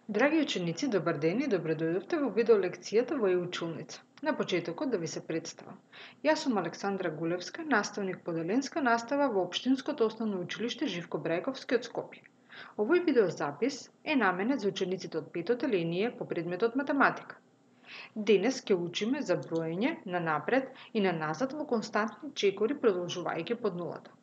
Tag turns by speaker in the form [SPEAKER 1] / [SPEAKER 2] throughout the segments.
[SPEAKER 1] Драги ученици, добар ден и добре дојдовте во видеолекцијата во e-училница. На почетокот да ви се представам. Јас сум Александра Гулевска, наставник по деленска настава во Општинското основно училиште Живко Брајковски од Скопје. Овој видеозапис е наменет за учениците од 5-то деление по предметот математика. Денес ќе учиме за броење на напред и на назад во константни чекори продолжувајќи под нулата.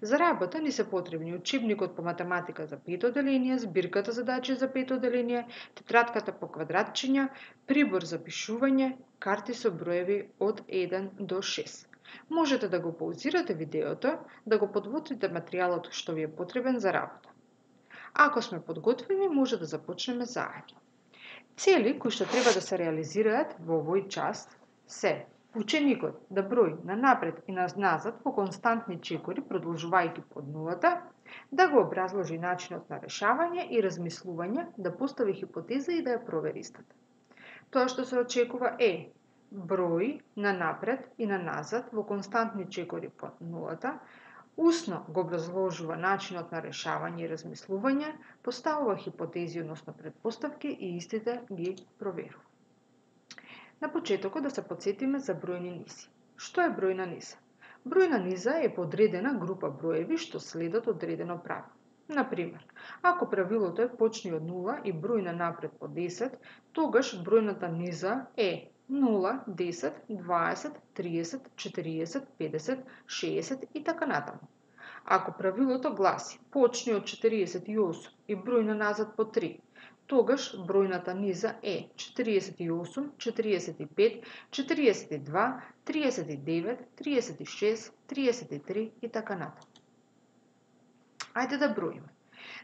[SPEAKER 1] За работа ни се потребни учебникот по математика за 5-то деление, збирката задачи за 5-то деление, тетратката по квадратчиња, прибор за пишување, карти со броеви од 1 до 6. Можете да го паузирате видеото, да го подготвите материјалот што ви е потребен за работа. Ако сме подготвени, може да започнеме заедно. Цели кои што треба да се реализираат во овој час се ученикот да брои на напред и на назад по константни чекори, продолжувајќи под нулата, да го образложи начинот на решавање и размислување, да постави хипотеза и да ја провери истата. Тоа што се очекува е брои на напред и на назад во константни чекори под нулата, усно го образложува начинот на решавање и размислување, поставува хипотези, односно претпоставки и истите ги проверува. На почетокот да се потсетиме за бројни низи. Што е бројна низа? Бројна низа е подредена група броеви што следат одредено правило. Например, ако правилото е почни од 0 и број на напред по 10, тогаш бројната низа е 0, 10, 20, 30, 40, 50, 60 и така натаму. Ако правилото гласи почни од 48 и број на назад по 3, тогаш бројната низа е 48, 45, 42, 39, 36, 33 и така натаму. Ајде да броиме.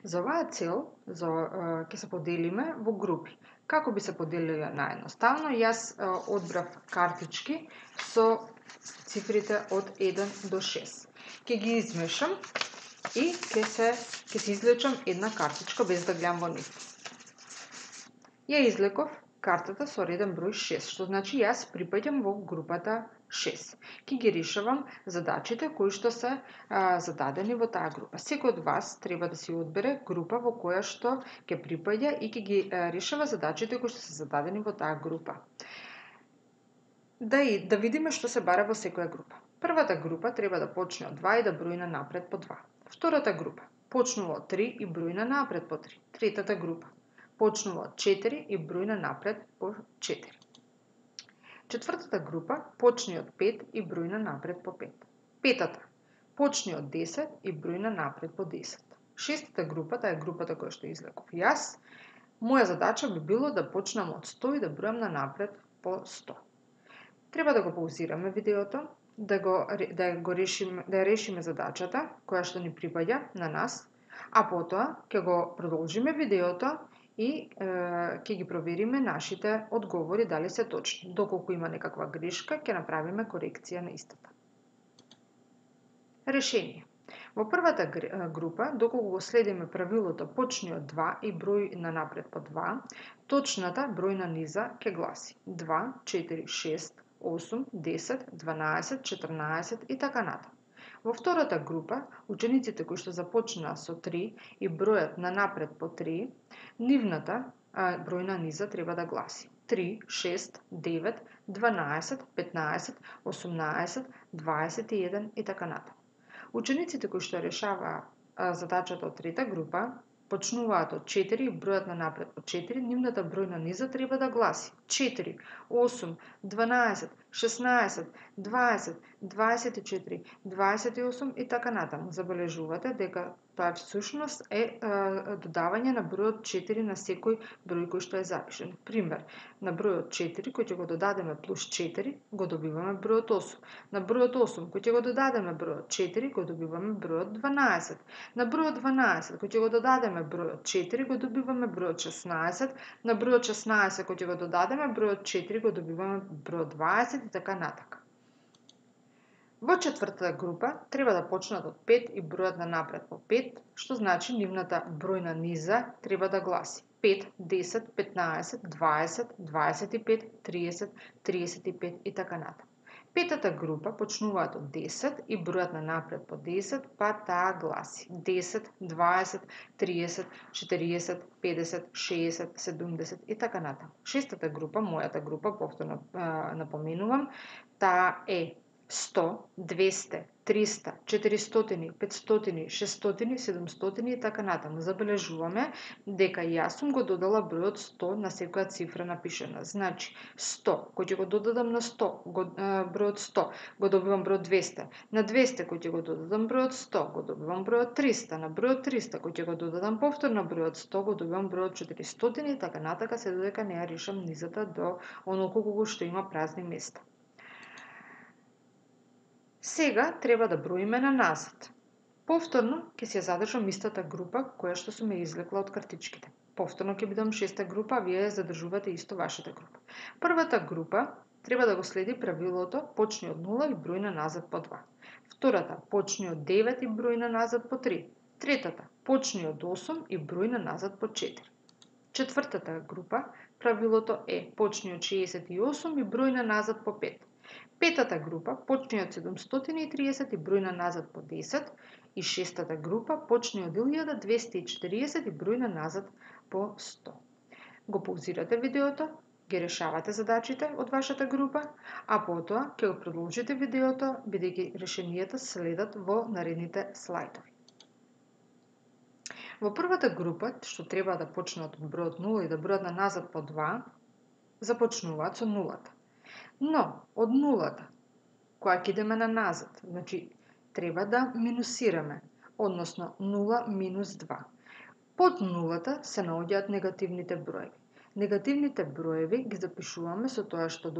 [SPEAKER 1] За оваа цел ќе се поделиме во групи. Како би се поделиле наједноставно? Јас одбрав картички со цифрите од 1 до 6. Ќе ги измешам и ќе се извлечам една картичка без да гледам во нив. Ја излеков картата со реден број 6, што значи јас припаѓам во групата 6. Ќе ги решавам задачите кои што се зададени во таа група. Секој од вас треба да си одбере група во која што ќе припаѓа и ќе ги решава задачите кои што се зададени во таа група. Да видиме што се бара во секоја група. Првата група треба да почне од 2 и да брои на напред по 2. Втората група почнува од 3 и брои на напред по 3. Третата група почнува од 4 и брои на напред по 4. Четвртата група почни од 5 и брои на напред по 5. Петата почни од 10 и брои на напред по 10. Шестата група, таа е групата која што излеков јас, моја задача би било да почнам од 100 и да бројам на напред по 100. Треба да го паузираме видеото, да ја решиме задачата која што ни припаѓа на нас, а потоа ќе го продолжиме видеото и ќе ги провериме нашите одговори дали се точни. Доколку има некаква грешка, ќе направиме корекција на истата. Решение. Во првата група, доколку го следиме правилото почни од 2 и број на напред по 2, точната бројна низа ќе гласи 2, 4, 6, 8, 10, 12, 14 и така натаму. Во втората група, учениците кои што започнаа со 3 и бројат на напред по 3, нивната бројна низа треба да гласи 3, 6, 9, 12, 15, 18, 21 и така натаму. Учениците кои што решаваа задачата од трета група, почнуваат од 4 и бројат на напред по 4, нивната бројна низа треба да гласи 4, 8, 12, 16, 20, 24, 28 и така натаму. Забележувате дека тоа всушност е додавање на бројот 4 на секој број кој што е запишен. Пример, на бројот 4 кој ќе го додадеме плюс 4, го добиваме бројот 8. На бројот 8 кој ќе го додадеме бројот 4, го добиваме бројот 12. На бројот 12 кој ќе го додадеме бројот 4, го добиваме бројот 16. На бројот 16 кој ќе го додадеме бројот 4, го добиваме бројот 20 и така натака. Во четвртата група треба да почнат од 5 и бројат на напред по 5, што значи нивната бројна низа треба да гласи 5, 10, 15, 20, 25, 30, 35 и така натаму. Петата група почнуваат од 10 и бројат на напред по 10, па таа гласи 10, 20, 30, 40, 50, 60, 70 и така натаму. Шестата група, мојата група, повторно напоменувам, таа е 100, 200, 300, 400, 500, 600, 700 и така натаму. Забележуваме дека јас сум го додала бројот 100 на секоја цифра напишена. Значи, 100, кој ќе го додадам на 100, бројот 100, го добивам бројот 200. На 200, кој ќе го додадам бројот 100, го добивам бројот 300. На бројот 300, кој ќе го додадам повторно бројот 100, го добивам бројот 400 и така натака, се додека не ја решам низата до онолку колку што има празни места. Сега треба да броиме на назад. Повторно ќе се задржам истата група која што сум ја извлекла од картичките. Повторно ќе бидам шеста група, а вие задржувате исто вашата група. Првата група треба да го следи правилото почни од 0 и број на назад по 2. Втората почни од 9 и број на назад по 3. Третата почни од 8 и број на назад по 4. Четвртата група правилото е почни од 68 и број на назад по 5. Петата група почни од 730 и број на назад по 10 и шестата група почни од 1240 и број на назад по 100. Го паузирате видеото, ги решавате задачите од вашата група, а потоа ќе го продолжите видеото бидејќи решенијата следат во наредните слайдови. Во првата група, што треба да почнат од бројот 0 и да бројат на назад по 2, започнуваат со нулата. Но, од нулата, која ќе идеме на назад, значи, треба да минусираме, односно 0 минус 2. Под нулата се наоѓаат негативните броеви. Негативните броеви ги запишуваме со тоа што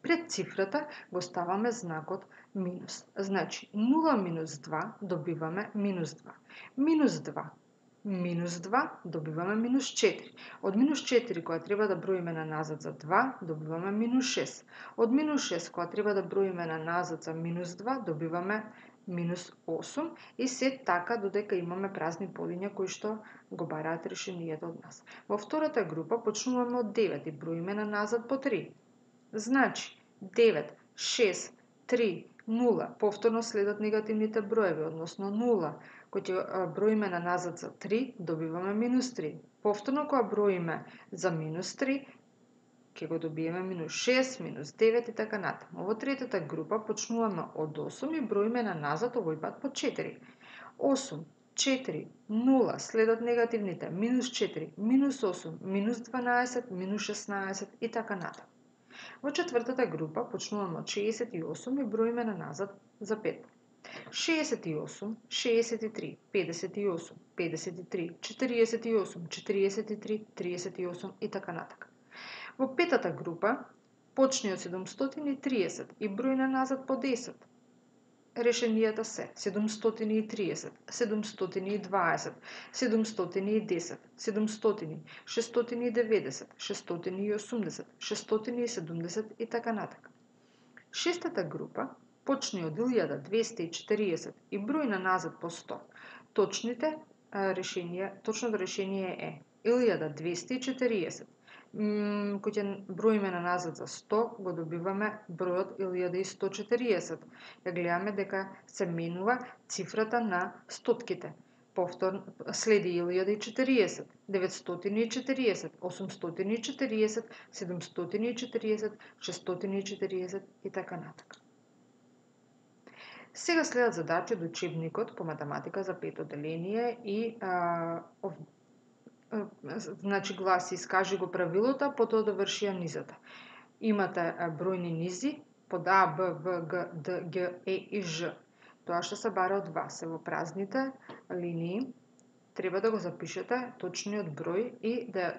[SPEAKER 1] пред цифрата го ставаме знакот минус. Значи, 0 минус 2 добиваме минус 2. Минус 2 минус 2 добиваме минус 4. Од минус 4 која треба да броиме на назад за 2, добиваме минус 6. Од минус 6 која треба да броиме на назад за минус 2, добиваме минус 8 и се така додека имаме празни полиња кои што го бараат решенијата од нас. Во втората група почнуваме од 9 и броиме на назад по 3. Значи 9, 6, 3, 0, повторно следат негативните броеви, односно 0, кој ќе броиме на назад за 3, добиваме минус 3. Повторно кога броиме за минус 3, ќе го добиеме минус 6, минус 9 и така натаму. Во третата група почнуваме од 8 и броиме на назад овој пат по 4. 8, 4, 0, следат негативните, минус 4, минус 8, минус 12, минус 16 и така натаму. Во четвртата група почнуваме од 68 и броиме на назад за 5. 68, 63, 58, 53, 48, 43, 38 и така натака. Во петата група почни од 730 и број на назад по 10. Решенијата се 730, 720, 710, 700, 690, 680, 670 и така натака. Шестата група почни од 1240 и број на назад по 100. Точното решение е 1240. Кој ќе броиме на назад за 100, го добиваме бројот 1140. Ја гледаме дека се менува цифрата на стотките. Повторно следи 1040, 940, 840, 740, 640 и така натака. Сега следат задачи од учебникот по математика за пето деление и значи гласи искажи го правилото, потоа доврши ја низата. Имате бројни низи под А, Б, В, Г, Д, Г, Е и Ж. Тоа што се бара од вас е во празните линии, треба да го запишете точниот број и да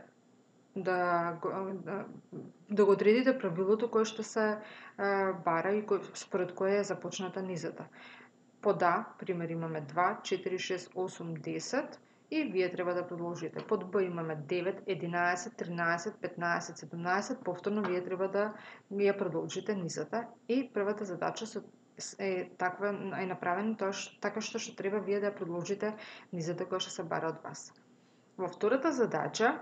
[SPEAKER 1] го одредите правилото кое што се бара и според кое е започната низата. Под А, пример, имаме 2, 4, 6, 8, 10 и вие треба да продолжите. Под Б имаме 9, 11, 13, 15, 17, повторно вие треба да ја продолжите низата и првата задача е направена така што треба вие да ја продолжите низата која што се бара од вас. Во втората задача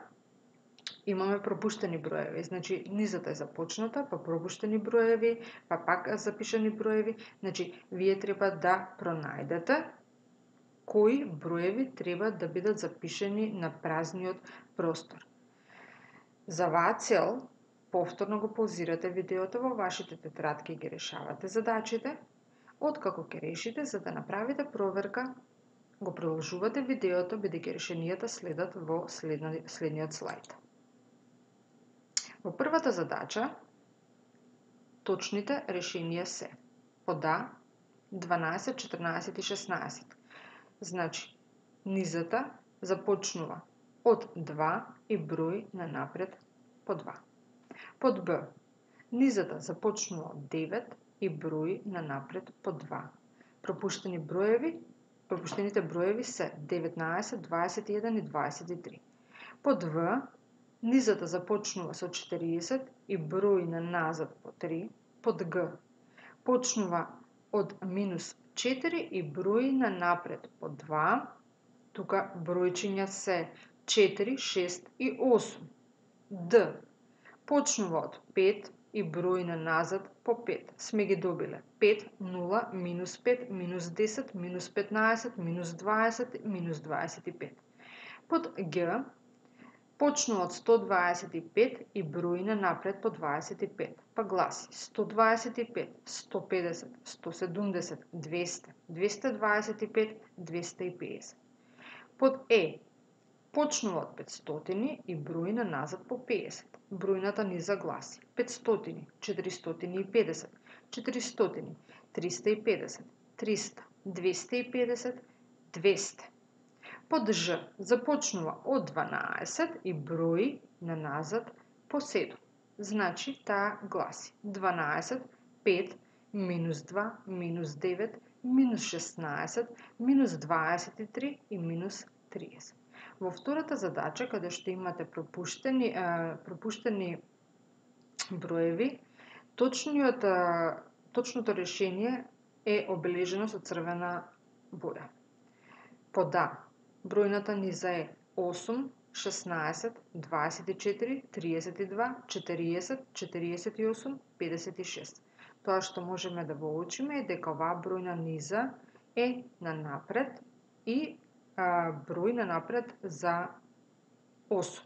[SPEAKER 1] имаме пропуштени броеви. Значи, низата е започната, па пропуштени броеви, па пак запишани броеви. Значи, вие треба да пронајдете кои броеви треба да бидат запишани на празниот простор. За оваа цел, повторно го паузирате видеото во вашите тетрадки и ги решавате задачите. Откако ќе решите, за да направите проверка, го продолжувате видеото, бидејќи решенијата следат во следниот слайд. Во првата задача, точните решенија се под А 12, 14 и 16. Значи, низата започнува од 2 и брои на напред по 2. Под Б, низата започнува од 9 и брои на напред по 2. Пропуштените броеви се 19, 21 и 23. Под В, низата започнува со 40 и брои на назад по 3. Под Г, почнува од минус 4 и брои на напред по 2. Тука бројчиња се 4, 6 и 8. Д, почнува од 5 и брои на назад по 5. Сме ги добиле 5, 0, минус 5, минус 10, минус 15, минус 20, минус 25. Под Г, почнува од 125 и брои на напред по 25. Па гласи 125, 150, 170, 200, 225, 250. Под Е, почнува од 500 и брои на назад по 50. Бројната низа гласи 500, 450, 400, 350, 300, 250, 200. Под Ж, започнува од 12 и брои на назад по 7. Значи, таа гласи 12, 5, минус 2, минус 9, минус 16, минус 23 и минус 30. Во втората задача, каде што имате пропуштени броеви, точното решение е обележено со црвена боја. Под А, бројната низа е 8, 16, 24, 32, 40, 48, 56. Тоа што можеме да го уочиме е дека оваа бројна низа е на напред и број на напред за 8.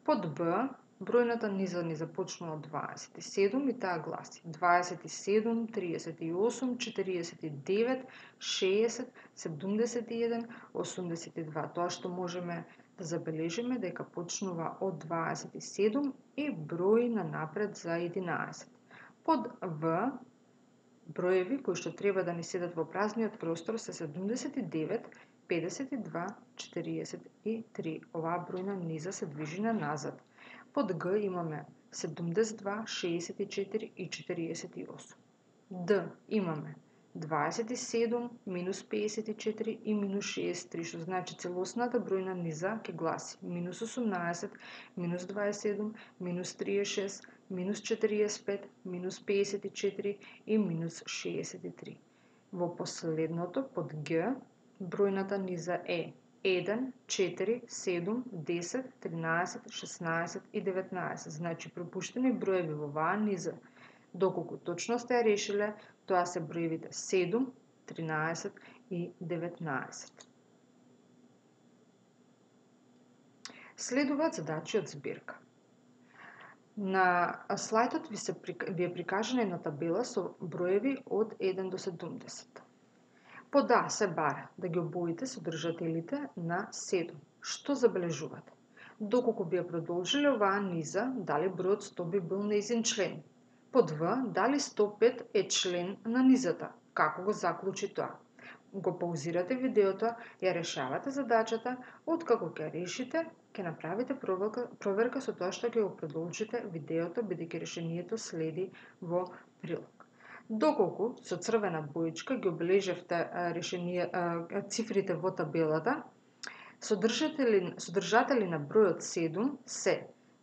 [SPEAKER 1] Под Б, бројната низа ни започнува од 27 и таа гласи 27, 38, 49, 60, 71, 82. Тоа што можеме да забележиме дека почнува од 27 и брои на напред за 11. Под В, броеви кои што треба да ни седат во празниот простор се 79, 52, 43. Оваа бројна низа се движи на назад. Под Г имаме 72, 64 и 48. Д имаме 27, минус 54 и минус 63, што значи целосната бројна низа ќе гласи минус 18, минус 27, минус 36, минус 45, минус 54 и минус 63. Во последното, под Г, бројната низа е 1, 4, 7, 10, 13, 16 и 19. Значи, пропуштени броеви во оваа низа, доколку точно сте ја решиле, тоа се броевите 7, 13 и 19. Следуваат задачи од збирка. На слайдот ви е прикажана една табела со броеви од 1 до 70. Под А се бара да ги обоите содржателите на 7. Што забележувате? Доколку би ја продолжиле оваа низа, дали бројот 100 би бил нејзин член? Под В, дали 105 е член на низата? Како го заклучи тоа? Го паузирате видеото, ја решавате задачата, откако ќе решите, ќе направите проверка со тоа што ќе го продолжите видеото, бидејќи решението следи во прилог. Доколку со црвена боичка ги обележевте цифрите во табелата, содржатели на бројот 7 се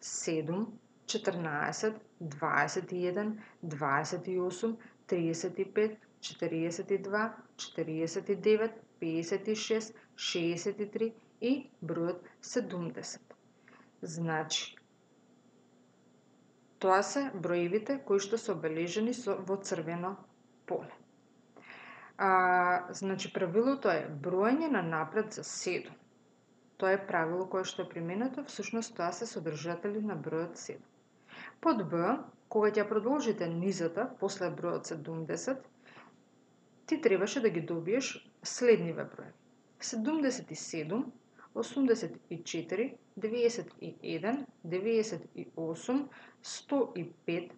[SPEAKER 1] 7, 14, 21, 28, 35, 42, 49, 56, 63 и бројот 70. Значи, тоа се броевите кои што се обележени во црвено поле. Значи, правилото е броење на напред за 7. Тоа е правило кое што е применето, всушност тоа се содржатели на бројот 7. Под Б, кога ќе продолжите низата после бројот 70, ти требаше да ги добиеш следниве броеви: 77, 84, 91, 98, 105,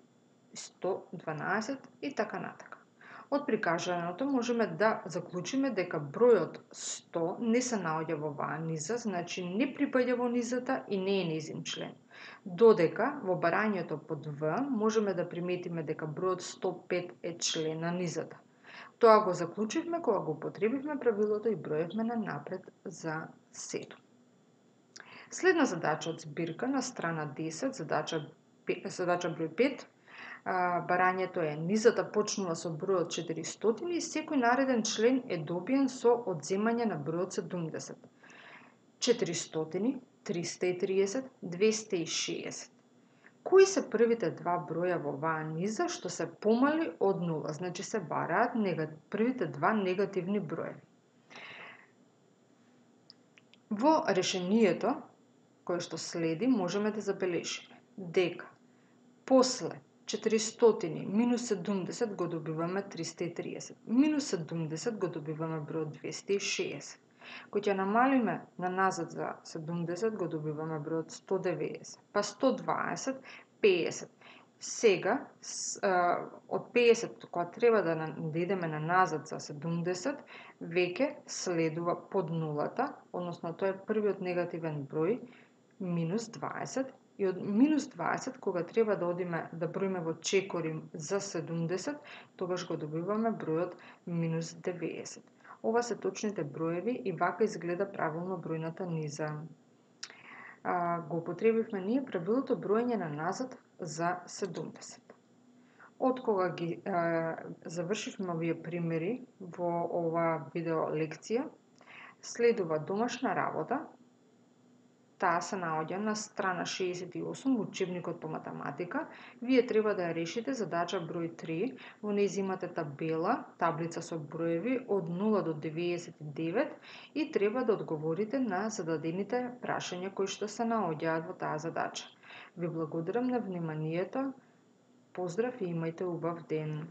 [SPEAKER 1] 112 и така натака. Од прикажаното можеме да заклучиме дека бројот 100 не се наоѓа во оваа низа, значи не припаѓа во низата и не е нејзин член. Додека во барањето под В можеме да приметиме дека бројот 105 е член на низата. Тоа го заклучивме кога го употребивме правилото и броевме на напред за 7. Следна задача од збирка на страна 10, задача број 5. Барањето е: низата почнува со бројот 400 и секој нареден член е добиен со одземање на бројот 70. 400, 330, 260. Кои се првите два броја во оваа низа што се помали од 0? Значи се бараат првите два негативни броеви. Во решението кое што следи можеме да забележиме дека после 400 минус 70 го добиваме 330. Минус 70 го добиваме бројот 260. Кој ќе намалиме на назад за 70 го добиваме бројот 190. Па 120, 50. Сега, од 50, кога треба да идеме на назад за 70, веќе следува под нулата, односно тоа е првиот негативен број, минус 20. И од минус 20, кога треба да одиме да броиме во чекори за 70, тогаш го добиваме бројот минус 90. Ова се точните броеви и вака изгледа правилно бројната низа. Го употребивме ние правилото броење на назад за 70. Од кога ги завршивме овие примери во оваа видео лекција, следува домашна работа. Таа се наоѓа на страна 68 во учебникот по математика. Вие треба да ја решите задача број 3. Во нејзина имате таблица со броеви од 0 до 99 и треба да одговорите на зададените прашања кои што се наоѓаат во таа задача. Ви благодарам на вниманието. Поздрав и имајте убав ден.